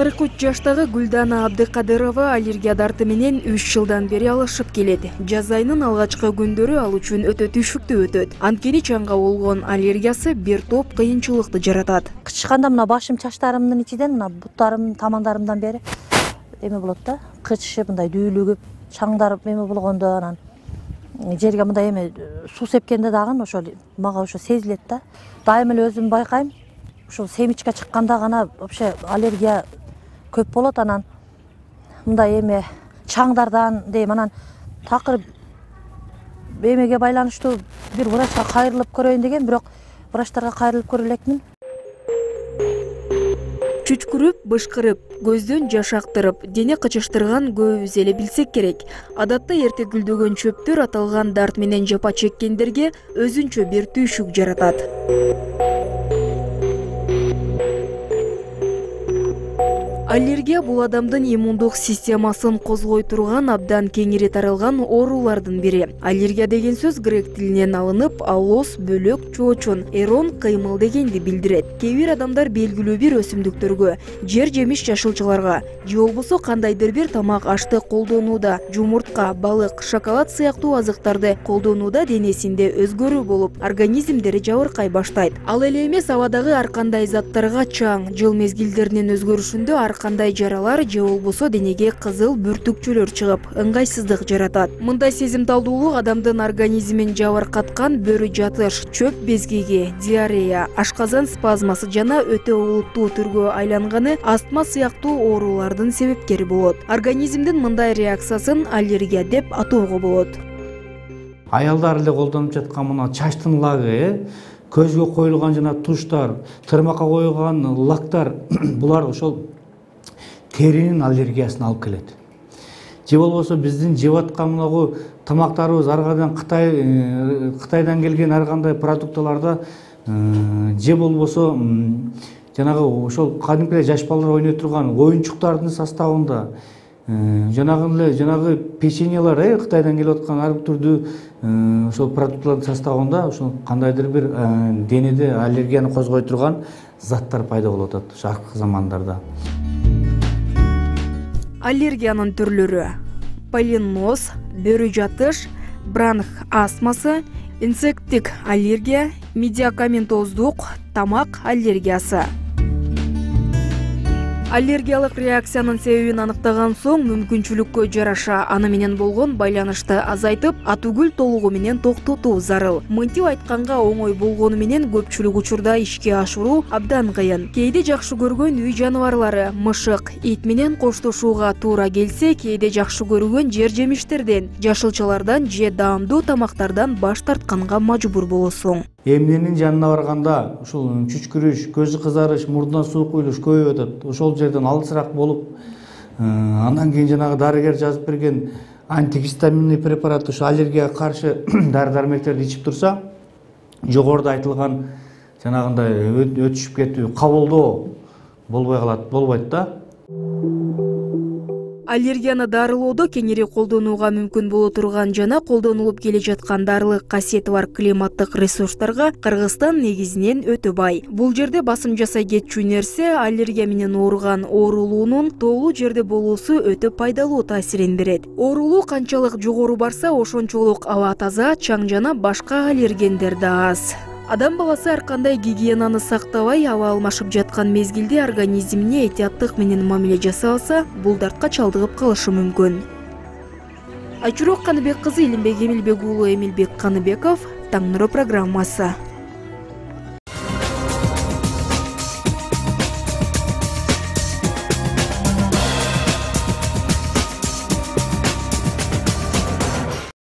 43 жаштагы Гүлдана Абдыкадырова аллергия дарты менен 3 жылдан бери алышып келет. Жаз айынын алгачкы күндөрү ал үчүн өтө түшүктүү өтөт. Анткени чаңга болгон аллергиясы бир топ кыйынчылыкты жаратат. Кычканда мына башым, чачтарымдын ичинен, мына буттарым, тамандарымдан бери эме болот да, кычышып, мындай дүүлүгүп, чаңдарып эме болгондо, анан жерге мындай эме суу сепкенде дагы ошол мага ошо сезилет да. Дайым эле өзүм байкайм. Ушул семичке чыкканда гана вообще аллергия көп болот. Анан мындай эме чаңдардан дейм, анан такыр эмеге байланыштуу бир врачка кайрылып көрөйүн деген, бирок врачтарга кайрылып көрө элекмин. Чүчкүрүп, бышкырып, көздөн жаш актырып, дене кычыштырган көбүбүз эле билсек керек. Адатта эрте гүлдөгөн чөптөр аталган дарт менен жапа чеккендерге өзүнчө бир түйшүк жаратат. Аллергия бул адамдын иммундук системасын козгой турган абдан кеңири таралган оорулардын бири. Аллергия деген сөз грек тилинен алынып, аллос, бөлөк, чоочун, эрон, кыймыл дегенди билдирет. Кээ бир адамдар белгилүү бир өсүмдүктөргө, жер-жемиш жашылчаларга же болбосо кандайдыр бир тамак ашты колдонууда, жумуртка, балык, шоколад сыяктуу азыктарды колдонууда денесинде өзгөрүү болуп, организмдери жабыркай баштайт. Ал эле эмес, абадагы ар кандай заттарга чаң, жыл мезгилдеринин өзгөрүшүндө ар кандай жаралар же болбосо денеге кызыл бүртүкчөлөр чыгып, ыңгайсыздык жаратат. Мындай сезимталдуулук адамдын организмин жабыркаткан бөрү жатыш, чөп безгеги, диарея, ашказан спазмасы жана өтө олуттуу түргө айланганы астма сыяктуу оорулардын себепкери болот. Организмдин мындай реакциясын аллергия деп атоого болот. Аялдар эле колдонуп жаткан мына чачтын лагы, көзгө коюлган жана туштар, тырмакка коюлган лактар булар ошол теринин аллергиясын алып келет. Же болбосо биздин жеп аткан мынагу тамактарыбыз ар кайдан Кытайдан келген ар кандай продукталарда же болбосо жанагы ошол кадимки жаш балдар ойной турган оюнчуктардын составында жанагы печеньелер Кытайдан келип аткан ар түрдүү ошол продуктлардын составында ошол кандайдыр бир денеде аллергияны козгой турган заттар пайда болуп атат ошо акыркы замандарда. Аллергиянын түрлөрү: полиноз, бөрү жатыш, бронх астмасы, инсекттик аллергия, медикаментоздук, тамак аллергиясы. Аллергиялык реакциянын себебин аныктаган соң мүмкүнчүлүккө жараша аны менен болгон байланышты азайтып, атүгүл толугу менен токтотуу зарыл. Мынтип айтканга оңой болгону менен көпчүлүк учурда ишке ашыруу абдан кыйын. Кээде жакшы көргөн үй жаныбарлары, мышык, ит менен коштошууга туура келсе, кээде жакшы көргөн жер-жемиштерден, жашылчалардан же даамдуу тамактардан баш тартканга мажбур болосуң. Эмненин жанына барганда ушул чүчкүрүш, көзү кызарыш, мурдунан суу куюлуш көбөйүп атат. Ошол жерден алысыраак болуп, андан кийин жанагы дарыгер жазып берген антигистаминный препарат, ушу аллергияга каршы дары-дармектерди ичип турса, жогоруда айтылган жанагындай өтүшүп кетүү, кабылдоо болбой калат, болбойт да. Аллергияны дарылоодо кеңири колдонууга мүмкүн боло турган жана колдонулуп келе жаткан дарылык касиети бар климаттык ресурстарга Кыргызстан негизинен өтө бай. Бул жерде басым жасай кетчү нерсе аллергия менен ооруган оорулуунун тоолуу жерде болуусу өтө пайдалуу таасирин берет. Оорулуу канчалык жогору барса, ошончолук аба таза, чаң жана башка аллергендер да аз. Адам баласы ар кандай гигиенаны сактабай, аба алмашып жаткан мезгилде организмине этияттык менен мамиле жасалса, бул дартка чалдыгып калышы мүмкүн. Айчурок Каныбек кызы, Илимбек Эмилбек уулу Эмилбек Каныбеков, Таң нуру программасы.